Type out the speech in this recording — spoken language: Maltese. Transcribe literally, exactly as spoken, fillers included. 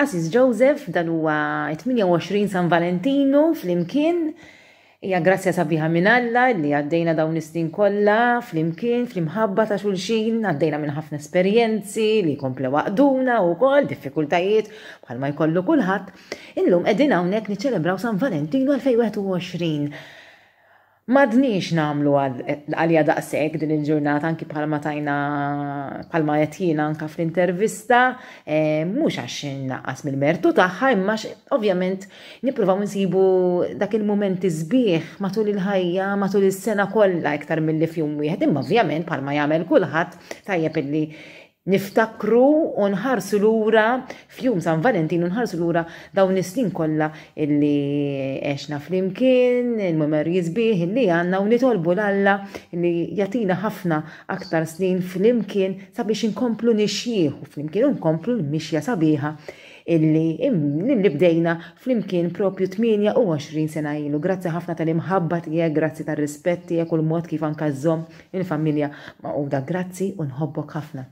Qassis Joseph, dan huwa tmienja u għoxrin San Valentinu flimkien. Hija grazzja sabiħa minn Alla li għaddejna dawn is-snin kollha flimkien, fl-imħabba ta' xulxin, għaddejna minn ħafna esperjenzi li komplew għaqduna wkoll, diffikultajiet bħalma jkollu kulħadd. Illum qegħdin hawnhekk niċċelebraw San Valentinu elfejn wieħed u għoxrin. M'għadniex nagħmlu għalija daqshekk din il-ġurnata, anki bħalma tajna, bħalma qed jiena anka fl-intervista, eh, mhux għax naqqas mill-mertu tagħha, imma ovvjament nippruvaw nsibu dak il-mumenti sbieħ matul il-ħajja, matul is-sena kollha iktar milli f'jum wieħed, imma ovvjament bħalma jagħmel kulħadd tajjeb illi niftakru u nħarsu lura f'jum San Valentinu, nħarsu lura dawn is-snin kollha illi għexna flimkien, il-memorji sbieħ illi għandna, u nitolbu 'l Alla illi jagħtina ħafna aktar snin flimkien sabiex inkomplu nixjieħu flimkien u nkomplu l-mixja sabiħa illi, illi bdejna flimkien propju tmienja u għoxrin sena ilu. Grazzi ħafna tal-imħabba tiegħek, grazzi tar-rispett tiegħek u l-mod kif anka żżomm il-familja magħquda. Grazzi u nħobbok ħafna.